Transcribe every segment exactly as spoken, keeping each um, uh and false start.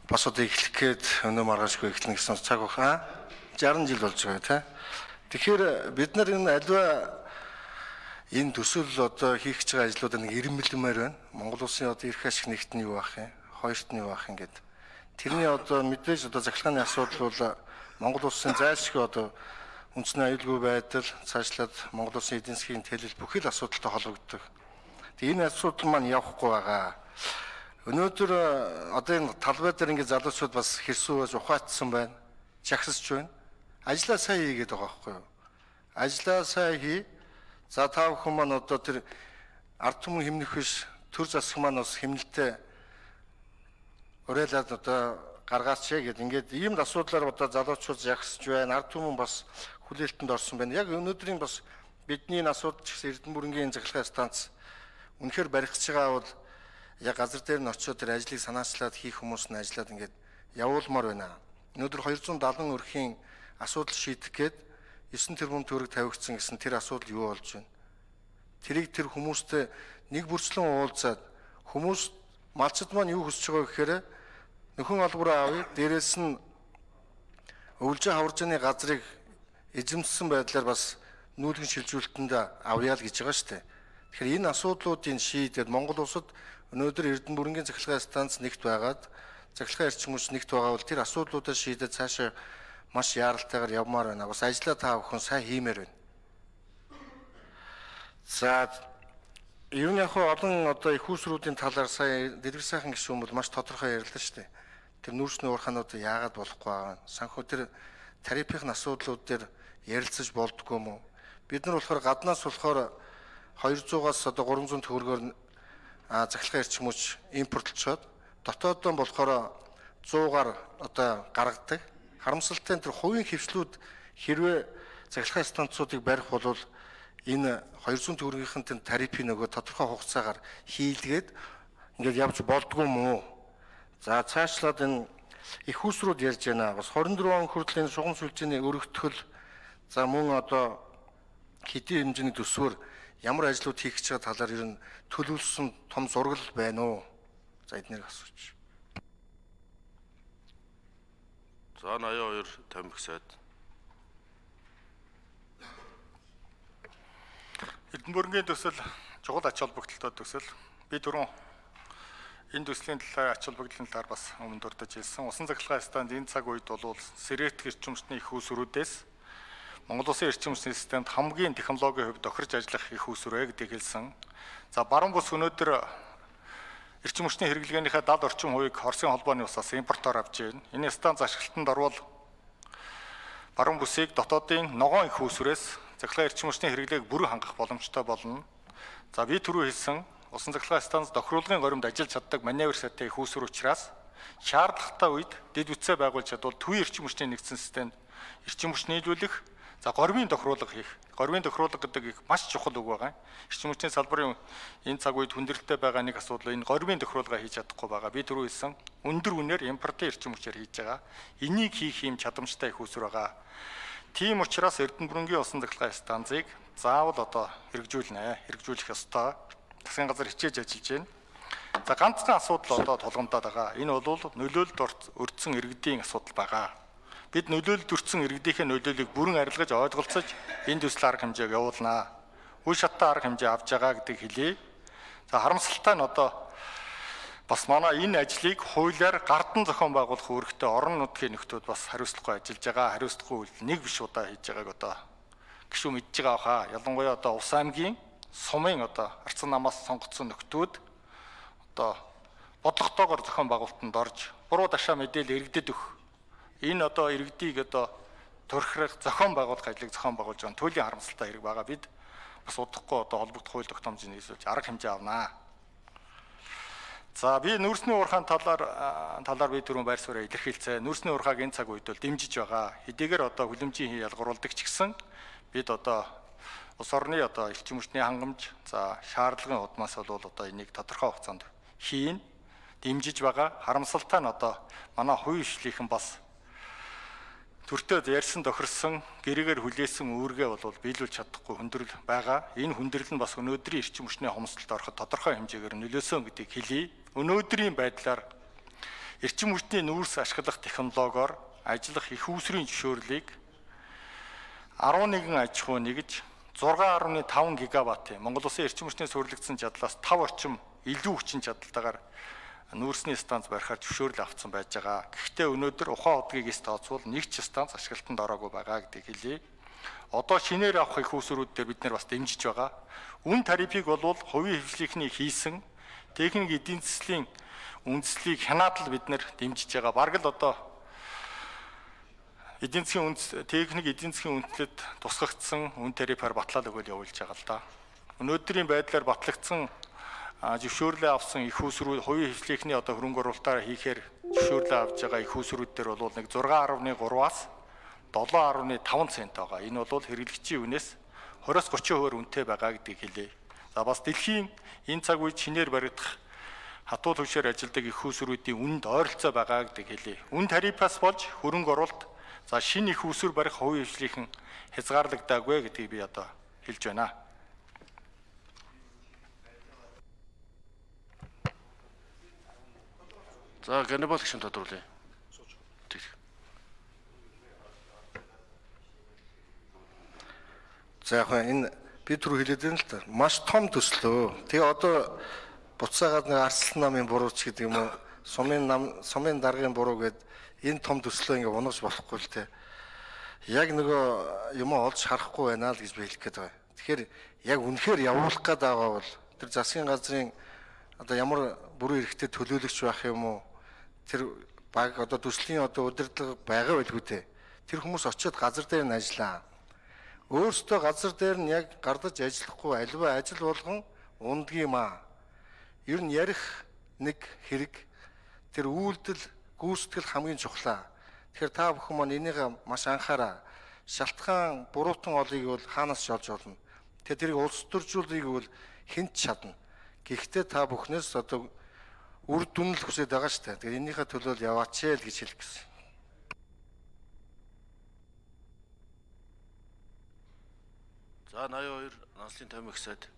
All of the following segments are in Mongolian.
бас одоо эхлэх гээд өнөө маргаашгүй эхлэнэ гэсэн цаг баха. шаран жил болж байгаа тийм. Тэгэхээр бид нар энэ аливаа энэ төсөл одоо хийх гэж байгаа ажлуудаа нэг ирэмбэлмээр байна. Монгол улсын одоо эрх ашиг нэгт нь юу байх юм? Хоёрт нь юу байх юм гээд. Тэрний одоо мэдээж одоо захиргааны асуудал бол Монгол улсын зайлшгүй одоо үндэсний аюулгүй байдал цаашлаад Монгол улсын эдийн засгийн төлөв бүхэл асуудалтай холбогддог. Тэгээ энэ асуудал маань явахгүй байгаа. Өнөөдөр одоо энэ талбай дээр ингээд залуучууд бас хэрсүүж ухаатсан байна. Жагсасч байна. Ажлаа сайн хийгээд байгаа байхгүй юу? Ажлаа сайн хий. За та бүхэн маань одоо тэр ард түмэн хэмнэх биш төр засаг маань бас хэмнэлтэд уриалаад одоо гаргаач гэдэг ингээд ийм асуудлаар одоо залуучууд жагсаж байна. Ард түмэн бас хүлээлтэнд орсон байна. Яг өнөөдрийн бас бидний энэ асуудал ч гэсэн Эрдэнэ бүрэнгийн захиргааны станц үнэхээр баригдаж байгаа бол яг газар дээр нь очиод тэр ажлыг санаачлаад хийх хүмүүс нь ажиллаад ингээд явуулмаар байна. Өнөөдөр хоёр зуун дагалан өрхийн асуудал шийдэх гээд есөн тэрбум төгрөг тавигдсан гэсэн тэр асуудал юу болж байна? Тэрийг тэр хүмүүстэй нэг бүрчлэн уулзаад хүмүүс малчид маань юу хүсэж байгаа гэхээр нөхөн олбороо авъя, дээрээс нь өвлжин хаваржны газрыг эзэмссэн байдлаар бас нүүлгэн шилжүүлэлтэнд авъя л гэж байгаа шүү дээ. Тэгэхээр энэ асуудлуудын шийдээд Монгол улсад өнөөдөр Эрдэнэ бүрэнгийн захиргааны станц нэгт байгаад захиргааны эрчим хүч нэгт байгаа бол тэр асуудлуудаа шийдээд цаашаа маш яаралтайгаар явмаар байна. Бас ажлаа та бүхэн сайн хиймээр байна. За ер нь яг олон одоо их усруудын талаар сая дэлгэр сайхан гишүүн бол маш тодорхой ярьлаа шүү дээ. Тэр нүүрсний уурхаануудаа яагаад болохгүй байгаа. Санхүү тэр тарифын асуудлууд дээр ярилцаж болдгоо юм уу? Бид нар болохоор гаднаас болохоор хоёрзуугаас одоо гурван зуун төгрөгөөр захиргааны эрчим хүч импортлчоод дотооддоо болохоор зуугаар одоо гаргадаг. Харамсалтай нь тэр хувийн хвшлүүд хэрвээ захиргааны станцуудыг барих бол энэ хоёр зуун төгрөгийнхэн тэр тарифын нөгөө тодорхой хугацаагаар хийлгээд ингээд явж болдгоо юм уу? За цаашлаад энэ их усрууд ярьж байна. Бас хорин дөрвөн он хүртэл энэ шугам сүлжээний өргөтгөл за мөн одоо хэдийн хэмжээний төсвөр ямар ажлууд хийх гэж байгаа талаар ер нь төлөвлөсөн том зураг байна уу? За эднэрийг асууж. За ноён хоёр тамхи сайд. Эрдэнэ бүрэнгийн төсөл чухал ач холбогдолтой төсөл. Би түрүүн энэ төслийн талаар ач холбогдлын талаар бас өмнө дурдж хэлсэн. Усан захиргааны станц энэ цаг үед бол сэрээт эрчим хүчний их усруудээс Монгол улсын эрчим хүчний системд хамгийн технологийн хувьд тохирж ажиллах их усрээ гэдгийг хэлсэн. За баруун бус өнөөдөр эрчим хүчний хэрэглэгээнийхээ дад орчим хувийг Оросын холбооны усаас импортоор авч байна. Энэ станц ашиглалтанд орвол баруун бүсийг дотоодын ногоон их усрээс захиргааны эрчим хүчний хэрэглээг бүрэн хангах боломжтой болно. За би түрүү хэлсэн усан захиргааны станц тохируулгын горимд ажиллаж чаддаг маневр сайтай их уср учраас шаардлагатай үед дэд бүтцээ байгуулж чадвал төвийн эрчим хүчний нэгдсэн системд эрчим хүч нийлүүлэх за гормын тохируулга хийх. Гормын тохируулга гэдэг их маш чухал үг байгаа. Эрчим хүчний салбарын энэ цаг үед хүндрэлтэй байгаа нэг асуудал энэ гормын тохируулга хийж чадахгүй байгаа. Би түрүү хэлсэн өндөр үнээр импортын эрчим хүчээр хийж байгаа. Энийг хийх юм чадамжтай их уср байгаа. Тийм учраас Эрдэнэ бүрэнгийн усан захиргааны станцыг заавал одоо хэрэгжүүлнэ. Хэрэгжүүлэх ёстой. Засгийн газар хичээж ажиллаж байна. За ганцхан асуудал одоо тулгамдаад байгаа. Энэ бол нөлөөлөлд өртсөн иргэдийн асуудал байгаа. Бид нөлөөлөлд өртсөн иргэдийнхээ нөлөөллийг бүрэн арилгаж ойлголцож энэ төсөл арга хэмжээг явуулнаа. Үе шаттай арга хэмжээ авч байгаа гэдгийг хэлье. За харамсалтай нь одоо бас манай энэ ажлыг хуулиар гардан зохион байгуулах үүрэгтэй орон нутгийн нөхдүүд бас хариуцлагагүй ажиллаж байгаа. Хариуцлагагүй үйл нэг биш удаа хийж байгааг одоо гişүү мэдж байгаа хаа. Ялангуяа одоо Ус аймгийн сумын одоо арцсан намаас сонгогдсон нөхдүүд одоо бодлоготойгоор зохион байгуулалтанд орж буруу дашаа мэдээлэл иргэдэд өгөх. Энэ одоо иргэдийг одоо турхирах зохион байгуулах ажлыг зохион байгуулж байгаа төлөлийн харамсалтай хэрэг байгаа. Бид бас удахгүй одоо холбогдох хууль тогтоомжийг нийлүүлж арга хэмжээ авнаа. За би нүүрсний уурхаан талаар талаар би түрүүн байр суурь илэрхийлцээ. Нүүрсний уурхааг энэ цаг үед бол дэмжиж байгаа. Хэдийгээр одоо хүлэмжийн ялгаруулдаг ч гэсэн бид одоо улс орны одоо эрчим хүчний хангамж за шаардлагын удмаас бол одоо энийг тодорхой хугацаанд хийн дэмжиж байгаа. Харамсалтай нь одоо манай хувийн хвшлийнхэн бас төртөө ярьсан тохирсон гэрээгээр хүлээсэн үүргээ бол биелүүлж чадахгүй хүндрэл байгаа. Энэ хүндрэл нь бас өнөөдрийн эрчим хүчний хомсдолд ороход тодорхой хэмжээгээр нөлөөсөн гэдгийг хэлье. Өнөөдрийн байдлаар эрчим хүчний нүүрс ашиглах технологиор ажиллах их үүсвэрийн зөвшөөрлийг арван нэгэн аж ахуй нэгж зургаан гаруй таван гигаваттын Монгол Улсын эрчим хүчний суурилагдсан чадлаас тав орчим илүү хүчин чадалтайгаар нүүрсний станц барихаар зөвшөөрөл авсан байж байгаа. Гэхдээ өнөөдөр ухаан удгийгээс тооцвол нэг ч станц ашиглалтанд ороогүй байгаа гэдгийг хэлье. Одоо шинээр авах их үүсвэрүүд дээр бид нар бас дэмжиж байгаа. Үн тарифыг бол хувийн хвшлийнхний хийсэн техник эдийн засгийн үндслийг хянаатал бид нар дэмжиж байгаа. Бараг л одоо эдийн засгийн үндэс техник эдийн засгийн үндэслэлд тусгагдсан үн тарифаар батлал өгөл явуулж байгаа л да. Өнөөдрийн байдлаар батлагдсан зөвшөөрлөө авсан их үүсвэрүүд хувийн хвшлийнхний одоо хөрөнгө оруулалтаар хийхээр зөвшөөрлөө авж байгаа их үүсвэрүүд дээр бол нэг зургаан гаруй гураваас долоон гаруй таван цент байгаа. Энэ бол хэрэглэгчийн үнээс двадцать тридцать хувиар үнэтэй байгаа гэдгийг хэлье. За бас дэлхийн энэ цаг үед шинээр баригдах хатуу түвшээр ажилладаг их үүсвэрүүдийн үнэнд ойролцоо байгаа гэдгийг хэлье. Үн тарифаас болж хөрөнгө оруулалт за шинэ их үүсвэр барих хувийн хвшлийн хязгаарлагдаагүй гэдгийг би одоо хэлж байна. За Ганнибал гишүүн тодруулъя. За яг энэ би түрүү хэлээд байна л та. Маш том төслөө. Тэгээ одоо буцаагаад нэг арслан намын бурууч гэдэг юм уу? Сумын нам, сумын даргын буруу гэд энэ том төслөө ингээ унаж болохгүй л те. Яг нөгөө юм олж харахгүй байна л гэж би хэлэх гээд байгаа. Тэгэхээр яг үнэхээр явуулах гээд байгаа бол тэр засгийн газрын одоо ямар бүрэн эрхтэй төлөөлөгч байх юм уу? Тэр баг одоо төслийн одоо удирдлага байгаа байлгүй те. Тэр хүмүүс очиод газар дээр нь ажиллаа. Өөрөөсөө газар дээр нь яг гардаж ажиллахгүй альва ажил болгон ундгийн маа. Ер нь ярих нэг хэрэг тэр үйлдэл гүйцэтгэл хамгийн чухлаа. Тэгэхээр та бүхэн маань энийг маш анхаараа. Шалтгаан буруутан олыг бол хаанаас шолж олно. Тэгэхээр тэрийг улс төржүүлэхийг бол хэн ч чадна. Гэхдээ та бүхнээс одоо үр дүн л хүсэж байгаа шүү дээ. Тэгэхээр энийхээ төлөө яваач ээ л гэж хэлэх гэсэн. За наяа хоёр Нанслын тавин их сайд.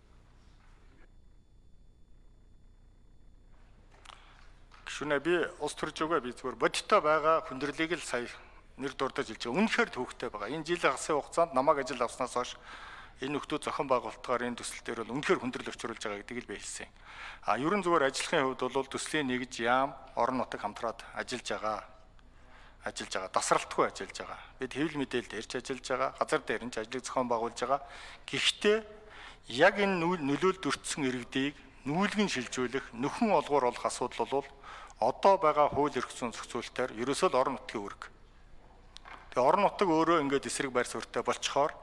Гүшүүнэ би улс төрж байгаа би зүгээр бодиттой байгаа хүндрэлийг л сая нэр дурдаж хэлж байгаа. Үнэхээр төвөгтэй байгаа. Энэ жилийн хасын хугацаанд намайг ажил авснаас хойш энэ нөхдөө зохион байгуулалтаар энэ төсөл дээр бол үнэхээр хүндрэл өчрүүлж байгаа гэдгийг л би хэлсэн. А ерөн зүгээр ажиллахын хувьд бол төслийн нэгж яам орон нутаг хамтраад ажиллаж байгаа. Ажиллаж байгаа. Тасралтгүй ажиллаж байгаа. Бид хэвлэл мэдээлэлд ирж ажиллаж байгаа. Газар дээр нь ажлыг зохион байгуулж байгаа. Гэхдээ яг энэ нөлөөлөлд өртсөн иргэдийг нүүлгэн шилжүүлэх, нөхөн олгоор олох асуудал бол одоо байгаа хууль эрх зүйн зохицуулалтаар ерөөсөө л орон нутгийн үүрэг. Тэгээ орон нутаг өөрөө ингээд эсрэг байр суурьтай болцохоор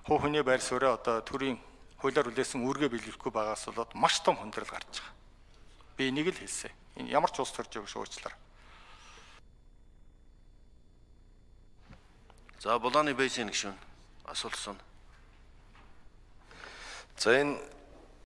хуу хөний байр суурьаа одоо төрийн хуулиар үлээсэн үүргээ биелүүлэхгүй байгаас болоод маш том хүндрэл гарч байгаа. Би энийг л хэлсэн. Энэ ямар ч улс төрж байгаа шүү уучлаарай. За Булааны Бэйсийн гишүүн асуулт асууна. За энэ